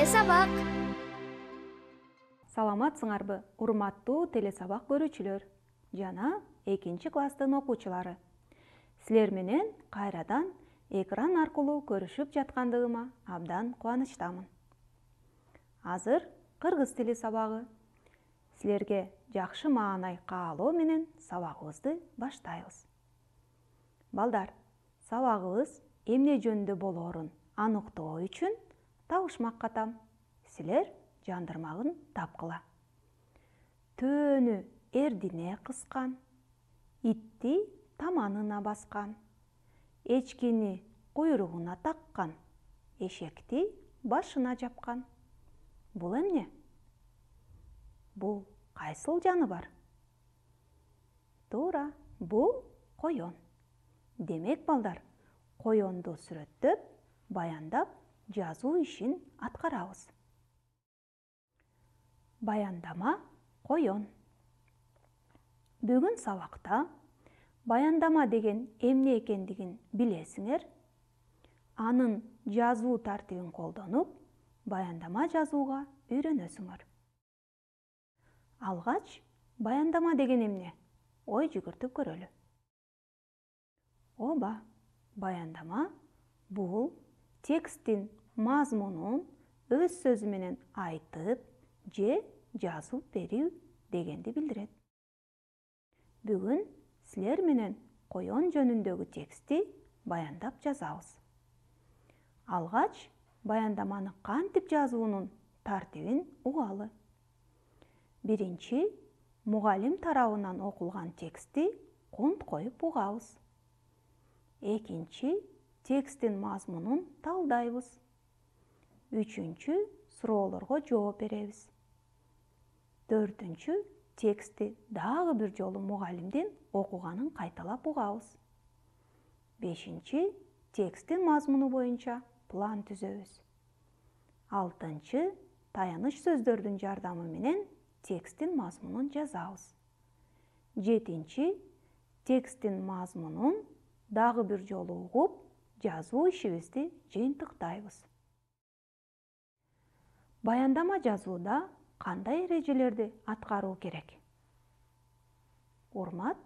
Телесабак. Саламатсыңарбы, урматтуу телесабак көрүүчүлөр жана 2 класстын окуучулары. Силер менен кайрадан экран аркылуу көрүшүп жаткандыгыма абдан кубанычтамын. Азыр кыргыз тили сабагы. Силерге жакшы маанай каалоо менен сабагыбызды баштайбыз. Балдар, сабагыбыз эмне жөнүндө болоорун аныктоо үчүн табышмак катам. Силер жандырмагын тапкыла. Төөнү эрдине кыскан, итти таманына баскан, эчкини куйругуна таккан, эшекти башына жапкан. Бул эмне? Бул кайсыл жаныбар? Туура, бул коён. Демек, балдар, коёнду сүрөттөп, баяндап, жазуу ишин аткарабыз. Баяндама коён. Бүгүн сабакта баяндама деген эмне экендигин билесиңер. Анын жазуу тартибин колдонуп, баяндама жазууга үйрөнөсүңөр. Алгач, баяндама деген эмне? Ой жүгүртүп көрөлү. Ооба, баяндама бул тексттин мазмунун өз сөзү менен айтып же жазып берүү дегенди билдирет. Бүгүн силер менен коён жөнүндөгү текстти баяндап жазабыз. Алгач, баяндаманы кантип жазуунун тартибин угалы. Биринчи, мугалим тарабынан окулган текстти конт коюп угабыз. Экинчи, тексттин мазмунун талдайбыз. Үчүнчү, суроолорго жооп беребиз. Төртүнчү, текстти дагы бир жолу мугалимдин окуганын кайталап угабыз. Бешинчи, тексттин мазмуну боюнча план түзөбүз. Алтынчы, таяныч сөздөрдүн жардамы менен тексттин мазмунун жазабыз. Жетинчи, тексттин мазмунун дагы бир жолу угуп, жазуу ишибизди жыйынтыктайбыз. Баяндама жазууда кандай эрежелерди аткаруу керек? Урмат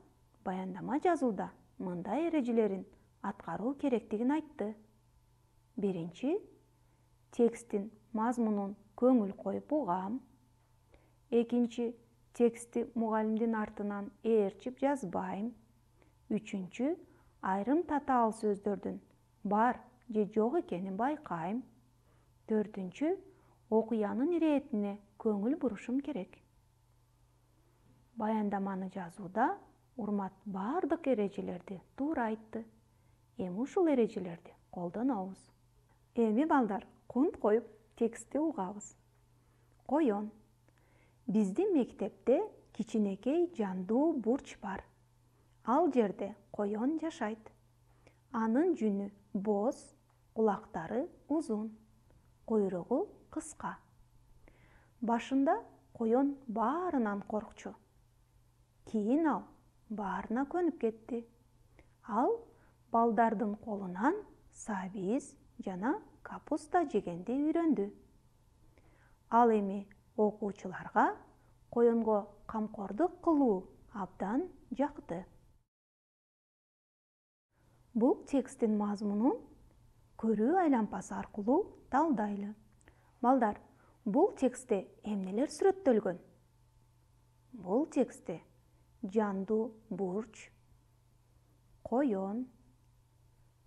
баяндама жазууда мындай эрежелерин аткаруу керектигин айтты. Биринчи, тексттин мазмунун көңүл коюп угам. Экинчи, текстти мугалимдин артынан ээрчип жазбайм. Үчүнчү, айрым татаал сөздөрдүн бар же жок экенин байкайм. Төртүнчү, окуянын иретине көңүл бурушум керек. Баяндаманы жазууда урмат бардык эрежелерди туура айтты. Эми ушул эрежелерди колдонобуз. Эми балдар, конт коюп текстти угабыз. Коён. Биздин мектепте кичинекей жандуу бурч бар. Ал жерде коён жашайт. Анын жүнү боз, кулактары узун, куйругу кыска. Башында коён баарынан коркчу. Кийин ал баарына көнүп кетти. Ал балдардын колунан сабиз жана капуста жегенди үйрөндү. Ал эми окуучуларга коёнго камкордук кылуу абдан жакты. Бул тексттин мазмунун көрүү айлампасы аркылуу талдайлы. Балдар, бул текстте эмнелер сүрөттөлгөн? Бул текстте жандуу бурч, коён,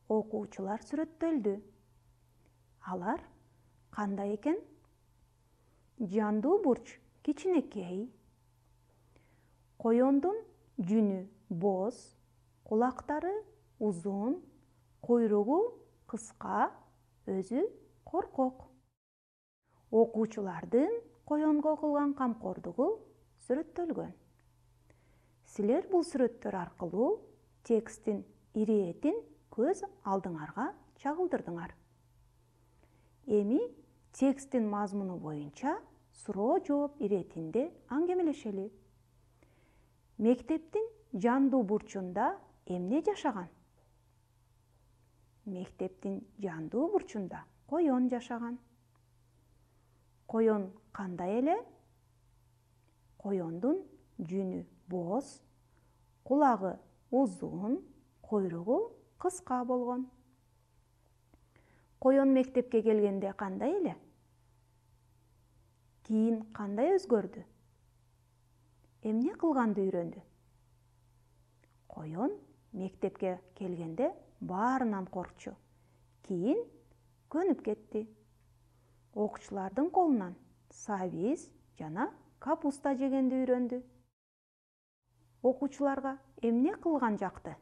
окуучулар сүрөттөлдү. Алар кандай экен? Жандуу бурч кичинекей, коёндун жүнү боз, кулактары узун, куйругу кыска, өзү коркок. Окуучулардын коёнго кылган камкордугу сүрөттөлгөн. Силер бул сүрөттөр аркылуу тексттин иретин көз алдыңарга чагылдырдыңар. Эми тексттин мазмуну боюнча суроо жооп иретинде аңгемелешели. Мектептин жандуу бурчунда эмне жашаган? Мектептин жандуу бурчунда коён жашаган. Коён кандай эле? Коёндун жүнү боз, кулагы узун, куйругу кыска болгон. Коён мектепке келгенде кандай эле? Кийин кандай өзгөрдү? Эмне кылганды үйрөндү? Коён мектепке келгенде баарынан коркчу. Кийин көнүп кетти. Окуучулардын колунан сабиз жана капуста жегенди үйрөндү. Окуучуларга эмне кылган жакты?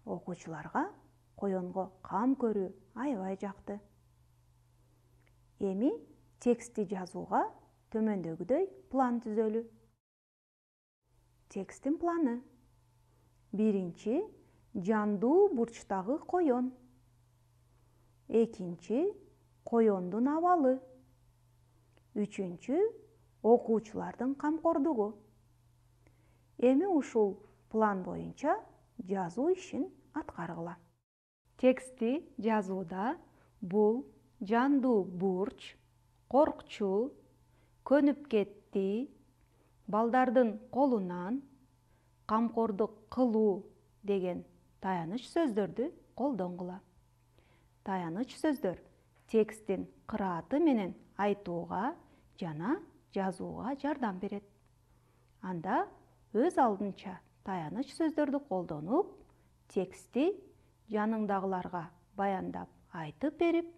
Окуучуларга коёнго кам көрүү аябай жакты. Эми текстти жазууга төмөндөгүдөй план түзөлү. Тексттин планы. Биринчи, жандуу бурчтагы коён. Экинчи, коёндун абалы. Үчүнчү, окуучулардын камкордугу. Эми ушул план боюнча жазуу ишин аткаргыла. Текстти жазууда бул жандуу бурч, коркчу, көнүп кетти, балдардын колунан, камкордук кылуу деген таяныч сөздөрдү колдонгула. Таяныч сөздөр тексттин кырааты менен айтууга жана жазууга жардам берет. Анда өз алдынча таяныч сөздөрдү колдонуп, текстти жаныңдагыларга баяндап айтып берип,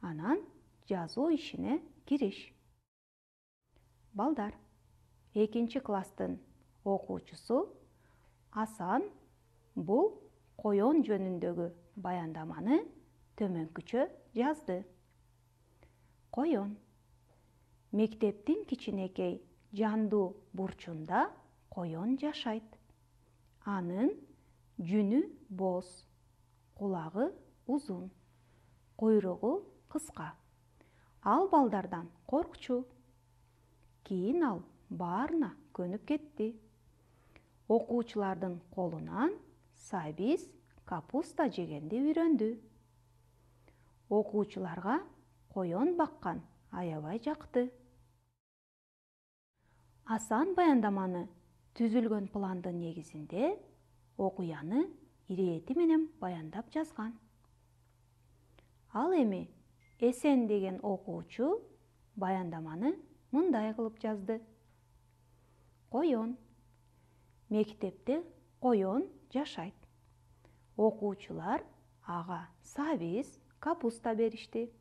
анан жазуу ишине кириш. Балдар, 2 класстын окуучусу Асан бул коён жөнүндөгү баяндаманы төмөнкүчө жазды. Коён. Мектептин кичинекей жандуу бурчунда коён жашайт. Анын жүнү боз, кулагы узун, куйругу кыска. Ал балдардан коркчу. Кийин ал баарына көнүп кетти. Окуучулардын колунан сабиз, капуста жегенди үйрөндү. Окуучуларга коён баккан аябай жакты. Асан баяндаманы түзүлгөн пландын негизинде окуяны ирэти менен баяндап жазган. Ал эми Эсен деген окуучу баяндаманы мындай кылып жазды. Коён. Мектепте коён жашайт. Окуучулар ага сабиз, капуста беришти.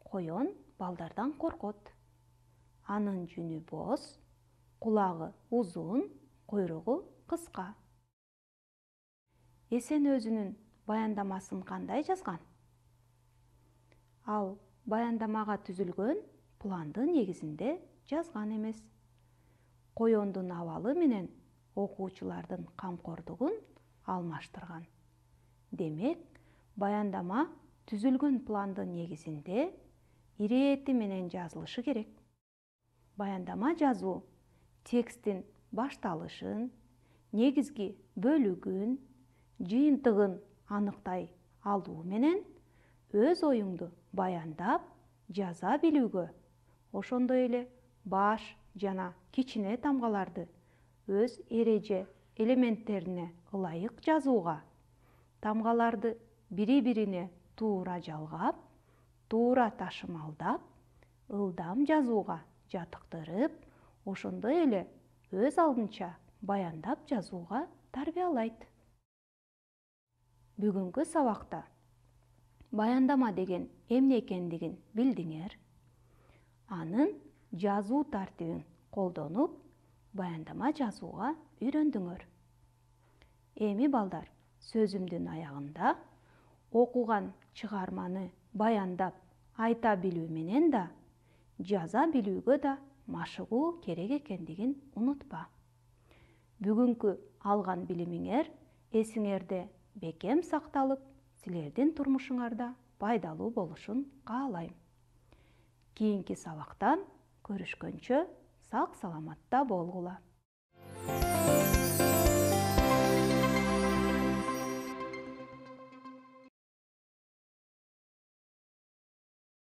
Коён балдардан коркот. Анын жүнү боз, кулагы узун, куйругу кыска. Эсен өзүнүн баяндамасын кандай жазган? Ал баяндамага түзүлгөн пландын негизинде жазган эмес. Коёндун абалы менен окуучулардын камкордугун алмаштырган. Демек, баяндама түзүлгөн пландын негизинде ирэти менен жазылышы керек. Баяндама жазуу тексттин башталышын, негизги бөлүгүн, жыйынтыгын аныктай алуу менен өз оюңду баяндап жаза билүүгө, ошондой эле баш жана кичине тамгаларды өз эреже элементтерине ылайык жазууга, тамгаларды бири-бирине туура жалгап, туура ташымалдап, ылдам жазууга жатыктырып, ошондой эле өз алдынча баяндап жазууга тарбиялайт. Бүгүнкү сабакта баяндама деген эмне экендигин билдиңер. Анын жазуу тартибин колдонуп, баяндама жазууга үйрөндүңөр. Эми балдар, сөзүмдүн аягында окуган чыгарманы баяндап айта билүү менен да, жаза билүүгө да машыгуу керек экендигин унутпа. Бүгүнкү алган билимиңер эсиңерде бекем сакталып, силердин турмушуңарда пайдалуу болушун каалайм. Кийинки сабактан көрүшкөнчө сак саламатта болгула.